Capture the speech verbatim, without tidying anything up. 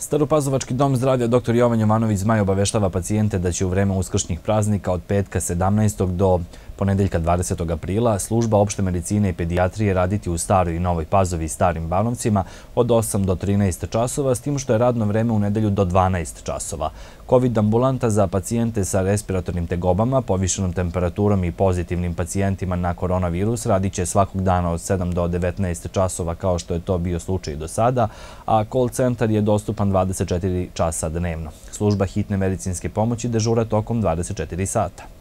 Staropazovački dom zdravlja doktor Jovan Jovanović Zmaj obaveštava pacijente da će u vreme uskršnjih praznika od petka sedamnaestog do ponedeljka dvadesetog aprila služba opšte medicine i pedijatrije raditi u Staroj i Novoj Pazovi i Starim Banovcima od osam do trinaest časova, s tim što je radno vreme u nedelju do dvanaest časova. Covid ambulanta za pacijente sa respiratornim tegobama, povišenom temperaturom i pozitivnim pacijentima na koronavirus radit će svakog dana od sedam do devetnaest časova kao što je to bio slučaj do sada, a call centar je dostupan dvadeset četiri časa dnevno. Služba hitne medicinske pomoći dežura tokom dvadeset četiri sata.